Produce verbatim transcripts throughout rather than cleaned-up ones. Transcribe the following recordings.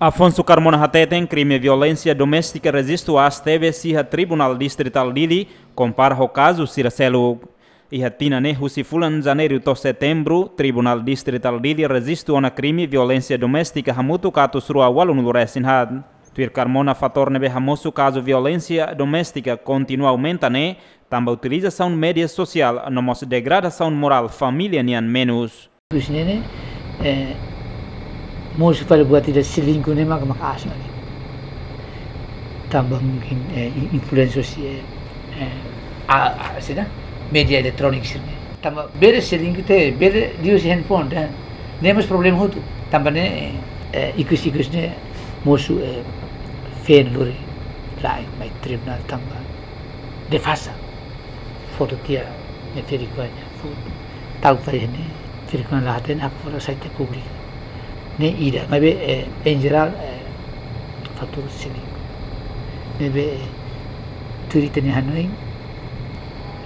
Afonso Carmona hateten krime violénsia doméstika rejistu aas tebes iha Tribunál Distritál Dili, kompara ho kazu sira seluk. Iha tinan ne'e husi fulan Janeiru to'o Setembru, Tribunál Distritál Dili rejistu ona krime violénsia doméstika hamutuk atus rua ualunulu resin haat. Tuir Carmona, fatór ne'ebé hamosu kazu violénsia doméstika kontinua aumenta ne'e tanba utilizasaun média sosiál no mós degradasaun morál família nian menus. Ikus ne'e, eh, mosu fali buat ida selingkuh ne'e maka, maka aas ona. Tanba mungkin, eh, in-, influénsia husi, eh, eh, a, a, sida, média eletróniku sira-ne'e. Tanba bele selingkuh tiha, bele liuhusi handphone, dan ne'e mós problema hotu. Tanba ne'e, eh, ikus-ikus ne'e mosu, eh, feen lori lai mai tribunál tanba defasa. Foto tiha ne'e ferik-oan nia foto. Tau fali ne'e ferik-oan la hatene, hak foto sai tiha públiku. Ne'e ida, maibé, eh, em jerál, eh, fatór selingkuh. Ne'ebé, eh, tuir ita-nia hanoin,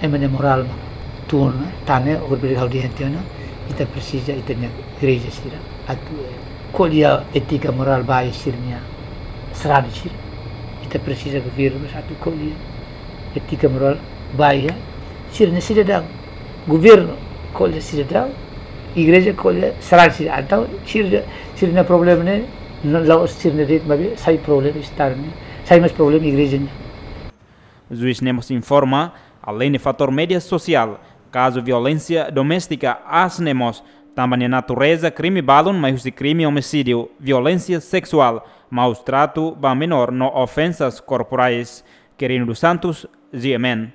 ema nia morál mak tun ona, tan ne'e, orbir hau di hentiona, ita presiza ita-nia igreja sira atu, eh, ko'alia étika morál ba sira-nia sarani sira. Ita presiza governu atu ko'alia étika morál ba sira-nia sidadaun. Governu ko'alia sidadaun, igreja ko'alia sarani sira. Entaun sira, sira-nia problema ne'e la'ós sira-nia de'it, maibé sai problema Estadu nian, sai mós problema igreja nian. Juís ne'e mós informa, aleinde fatór média sosiál, kazu violénsia doméstika aas ne'e mós tanba nia natureza krime balun mai husi krime omisídiu, violénsia seksuál, maus tratu ba menór no ofensas korporais. Quirino dos Santos, G M N.